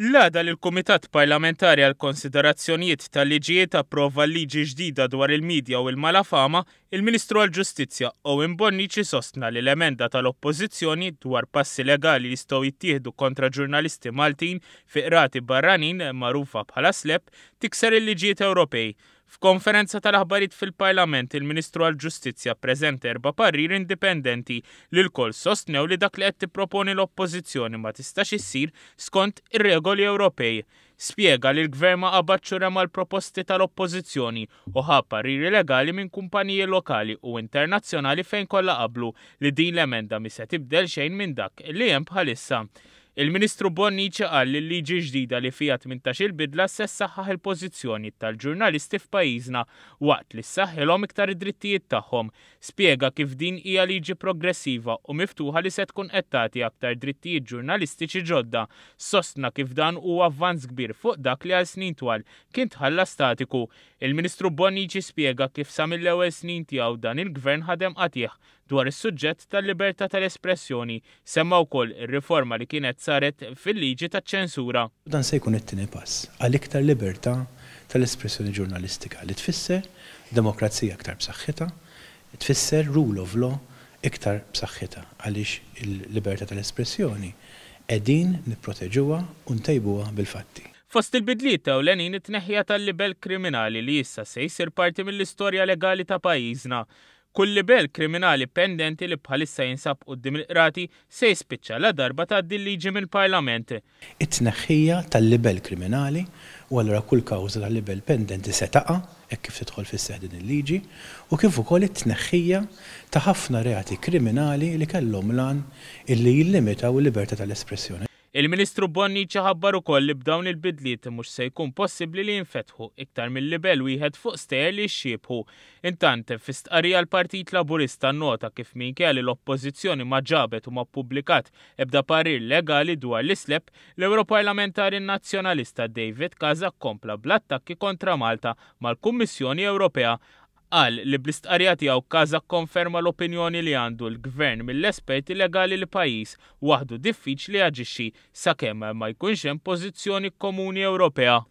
L-għada li l-Kumitat Parlamentari għall-Konsiderazzjonijiet tal-Liġijiet approva l-liġi ġdida dwar il-midja u l-malafama, il-Ministru għall-Ġustizzja Owen Bonnici sostna li l-emenda tal-Oppożizzjoni dwar passi legali li jistgħu jittieħdu kontra ġurnalisti Maltin fi qrati barranin, magħrufa bħala SLAPP, tikser il-liġijiet Ewropej. F'konferenza tal-aħbarijiet fil-Parlament, il-Ministru għall-Ġustizzja ppreżenta erba' pariri indipendenti li lkoll sostnew li dak li qed tipproponi l-Oppożizzjoni ma tistax issir skont ir-regoli Ewropej. Spjega li l-Gvern ma qabadx u rema l-proposti tal-Oppożizzjoni u ħa pariri legali minn kumpaniji lokali u internazzjonali fejn kollha qablu li din l-emenda mhi se tibdel xejn minn dak li hemm bħalissa. Il-Ministru Bonnici qal li l-liġi ġdida li fiha 18-il bidla se ssaħħaħ il-pożizzjoni tal-ġurnalisti f'pajjiżna waqt li ssaħħilhom iktar id-drittijiet tagħhom. Spjega kif din hija liġi progressiva u miftuħa li se tkun qed tagħti aktar drittijiet ġurnalistiċi ġodda. Sostna kif dan huwa avvanz kbir fuq dak li għal snin twal kien tħalla statiku. Il-Ministru Bonnici spjega kif sa mill-ewwel snin tiegħu dan il-Gvern ħadem qatigħ Dwar is-suġġett tal-libertà tal-espressjoni, semma wkoll ir-riforma li kienet saret fil-liġi taċ-ċensura. Dan se jkun it-tieni pass għal iktar libertà tal-espressjoni ġurnalistika li tfisser demokrazija iktar b'saħħitha, tfisser rule of law iktar b'saħħitha għaliex il-libertà tal-espressjoni qegħdin nipproteġuha u ntejbuha bil-fatti. Fost il-bidliet ewlenin it-tneħħija tal-libell kriminali li issa se jsir parti mill-istorja legali ta' pajjiżna. Kull libell kriminali pendenti li bħalissa jinsab quddiem il-qrati se jispiċċa ladarba tgħaddi l-liġi mill-Parlament. It-tneħħija tal-libell kriminali u allura kull kawża ta' libell pendenti se taqa' hekk kif tidħol fis-seħħ din il-liġi u kif ukoll it-tneħħija ta' ħafna reati kriminali li kellhom l-għan illi jillimitaw il-libertà tal-espressjoni. Il-Ministru Bonnici ħabbar ukoll li b'dawn il-bidliet mhux se jkun possibbli li jinfetħu iktar minn libell wieħed fuq stejjer li jixxiebħu. Intant, fi stqarrija l-Partit Laburista nnota kif minkejja li l-Oppożizzjoni ma ġabet u ma ppubblikat ebda parir legali dwar l-iSLAPP, l-Ewroparlamentari Nazzjonalista David Casa kompla bl-attakki kontra Malta mal-Kummissjoni Ewropea. Qal li bl-istqarrija tiegħu Casa kkonferma l-opinjoni li għandu l-Gvern mill-esperti legali li pajjiż waħdu diffiċli jaġixxi sakemm ma jkunx hemm pożizzjoni komuni Ewropea.